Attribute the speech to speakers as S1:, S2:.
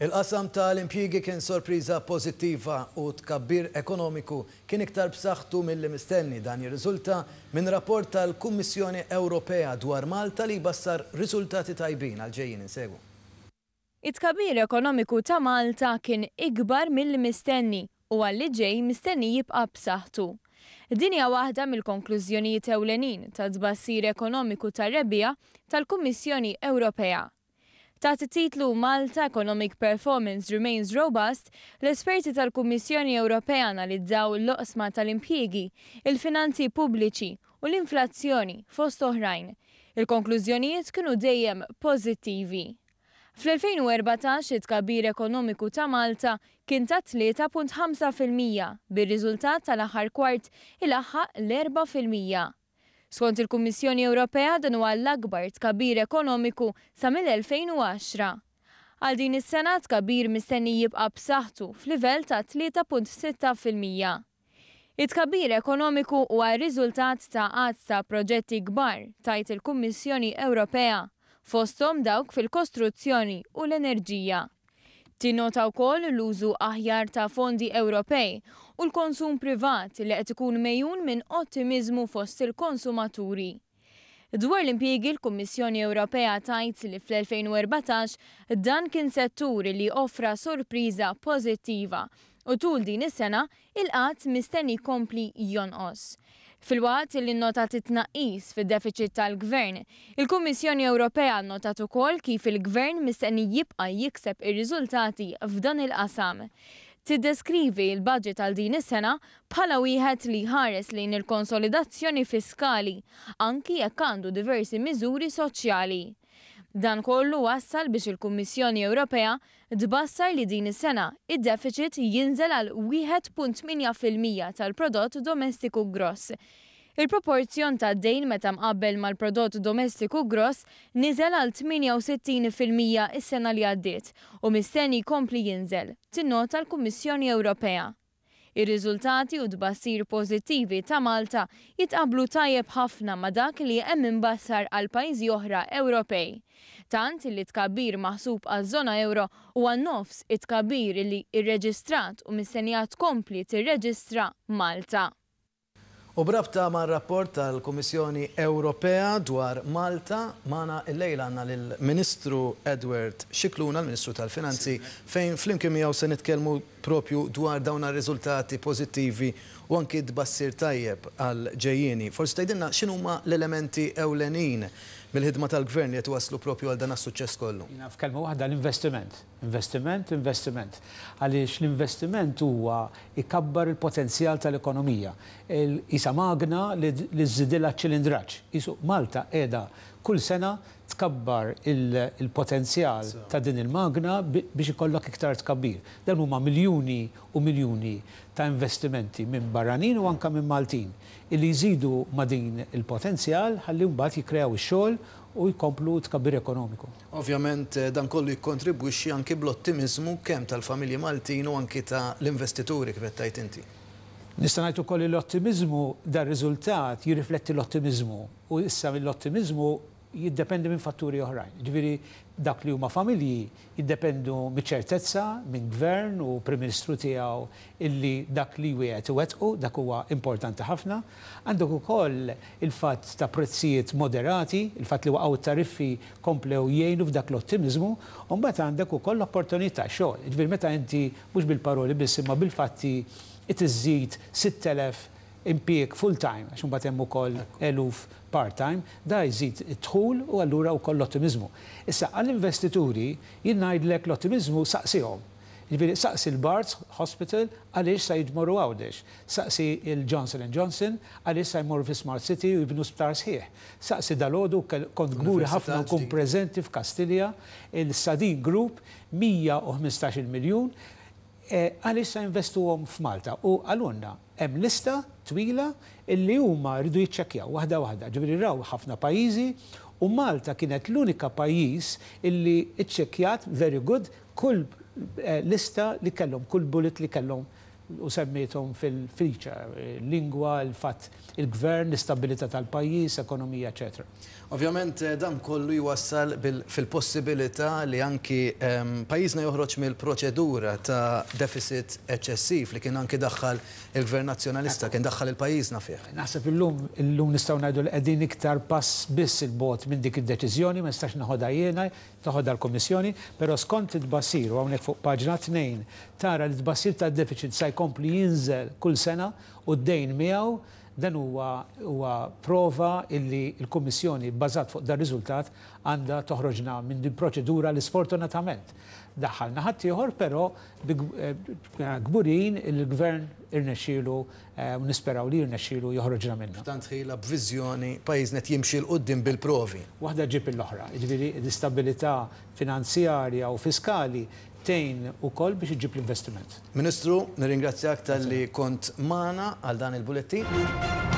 S1: Il-qasam ta' l-impjiegi kien sorpriża pożittiva u t-tkabbir ekonomiku kien iktar b'saħħtu milli mistenni. Dan jirriżulta minn rapport tal-Kummissjoni Ewropea dwar Malta li jbassar riżultati tajbin għall-ġejjieni. Insegwu.
S2: It-tkabbir ekonomiku ta' Malta kien ikbar milli mistenni u għal li ġej mistenni jibqa' b'saħħtu. Din hija waħda mill-konklużjonijiet ewlenin tat-tbassir ekonomiku tar-rebbiegħa tal-Kummissjoni Ewropea. Taħt it-titlu Malta Economic Performance Remains Robust, l-esperti tal-Kummissjoni Ewropea analizzaw l-oqsma tal-impjiegi, il-finanzi pubbliċi u l-inflazzjoni, fost oħrajn. Il-konklużjonijiet kienu dejjem pożittivi. Fl-2014 it-tkabbir ekonomiku ta' Malta kien ta' 3.5%, bir-riżultat tal-aħħar kwart ilaħħaq l-4%. Skont il-Kummissjoni Ewropea dan huwa l-akbar tkabbir ekonomiku sa mill-2010. Għal din is-sena t-tkabbir mistenni jibqa' b'saħħtu f'livell ta' 3.6%. It-tkabbir ekonomiku huwa r-riżultat ta' għadd ta' proġetti kbar, tgħid il-Kummissjoni Ewropea, fosthom dawk fil-kostruzzjoni u l-enerġija. Tinnota wkoll l-użu aħjar ta' fondi Ewropej u l-konsum privat li qed ikun megħjun minn ottimiżmu fost il-konsumaturi. Dwar l-impjiegi l-Kummissjoni Ewropea tgħid li fl-2014 dan kien settur li offra sorpriża pożittiva u tul din is-sena il-qgħad mistenni jkompli jonqos. Filwaqt li nnotat it-tnaqqis fid-defiċit tal-Gvern, il-Kummissjoni Ewropea nnotat ukoll kif il-Gvern mistenni jibqa' jikseb ir-riżultati f'dan il-qasam. Tiddeskrivi l-budget għal din is-sena bħala wieħed li jħares lejn il-konsolidazzjoni fiskali, anki jekk għandu diversi miżuri soċjali. Dan kollu wassal biex il-Kummissjoni Ewropea tbassar li din is-sena id-defiċit jinżel għal 1.8% tal-prodott domestiku gross. Il-proporzjon tad-dejn meta mqabbel mal-prodott domestiku gross niżel għal 68% is-sena li għaddiet u mistenni jkompli jinżel, tinnota l-Kummissjoni Ewropea. Ir-riżultati u t-tbassir pożittivi ta' Malta jitqabblu tajjeb ħafna ma' dak li hemm imbassar għal pajjiżi oħra Ewropej. Tant li t-tkabbir maħsub għaż-żona ewro huwa nofs it-tkabbir li rreġistrat u mistennija tkompli tirreġistra Malta.
S1: U b'rabta mar-rapport tal-Kummissjoni Ewropea dwar Malta, magħna illejla għandna lill-Ministru Edward Scicluna, l-Ministru tal-Finanzi, fejn flimkien miegħu se nitkellmu propju dwar dawn ar-riżultati pożittivi u anki t-tbassir tajjeb għall-ġejjieni. Forsi tgħidilna x'inhuma l-elementi ewlenin mill-ħidma tal-Gvern li qed iwasslu propju għal dan is-suċċess kollu?
S3: Jiena f'kelma waħda l-investiment. Investiment, investiment. Għaliex l-investiment huwa jkabbar il-potenzjal tal-ekonomija. Qisha magna li żżidilha ċ-ċilindraġġ. Qisu Malta qiegħda kull sena tkabbar il-potenzjal ta' din il-magna biex ikollok iktar tkabbir. Dan huma miljuni u miljuni ta' investimenti minn barranin u anke minn Maltin illi jżidu ma' din il-potenzjal ħalli mbagħad jikkreaw ix-xogħol u jkomplu t-tkabbir ekonomiku.
S1: Ovvjament dan kollu jikkontribwixxi anki bl-ottimiżmu kemm tal-familji Maltin u anki ta' l-investituri kif qed tgħid inti.
S3: Nista' ngħid ukoll li l-ottimiżmu, dar-riżultat jirrifletti l-ottimiżmu u issa l-ottimiżmu jiddependi minn fatturi oħrajn. Jiġifieri dawk li huma familji jiddependu miċ-ċertezza minn Gvern u Prim Ministru tiegħu illi dak li jwiegħed iwettqu, dak huwa importanti ħafna. Għandek ukoll il-fatt ta' prezzijiet moderati, il-fatt li waqgħu t-tariffi komplew jgħinu f'dak l-ottimiżmu, u mbagħad għandek ukoll l-opportunitajiet ta' xogħol. Jiġifieri meta inti mhux bil-paroli biss imma bil-fatti iżżid 6,000 impjieg full-time, għax imbagħad hemm ukoll eluf part-time, da jżid id-dħul u allura wkoll l-ottimiżmu. Issa għall-investituri jien ngħidlek l-ottimiżmu saqsihom. Jiġifieri saqsi l-Barts Hospital għaliex sa jmorru Għawdex. Saqsi l-Johnson and Johnson għaliex sa jmorru fi Smart City u jibnu sptar sħiħ. Saqsi dalgħodu kont kburi ħafna nkun preżenti f'Kastilja, il-Sadeen Group 115-il miljun għaliex sa jinvestuhom f'Malta u qalulna hemm lista twila illi huma rridu jiċċekkjaw waħda waħda. Ġifieri raw ħafna pajjiżi u Malta kienet l-unika pajjiż illi ċċekkjat very good kull lista li kellhom, kull bullet li kellhom u semmiethom fil-feature, lingwa, il-fatt il-gvern, l-istabbilità tal-pajjiż, ekonomija, eċetera.
S1: Ovvjament dan kollu jwassal fil-possibilità li anki pajjiżna joħroġ mill-proċedura ta' deficit eċċessiv li kien anki daħħal il-Gvern Nazzjonalista, kien daħħal il-pajjiżna fih.
S3: Naħseb illum illum nistgħu ngħidu li qegħdin iktar pass biss 'il bogħod minn dik id-deċiżjoni, ma nistax neħodha jiena, teħodha l-Kummissjoni, però skont it-tbassir, u hawnhekk fuq paġna 2 tara li t-tbassir tad-deficit sa jkompli jinżel kull sena u d-dejn miegħu, dan huwa huwa prova illi l-Kummissjoni bbażat fuq dar-riżultat għandha toħroġna minn din proċedura li sfortunatament daħħalna ħaddieħor però bi kburin illi l-Gvern irnexxielu u nisperaw li jirnexxielu joħroġna minnha.
S1: F'tant ħila b'viżjoni pajjiżna qed jimxi 'l quddiem bil-provi.
S3: Waħda ġġib l-oħra, jiġifieri l-istabilità finanzjarja u fiskali tgħin ukoll biex iġġib l-investiment.
S1: Ministru, nirringrazzjak talli kont magħna għal dan il-bulettin.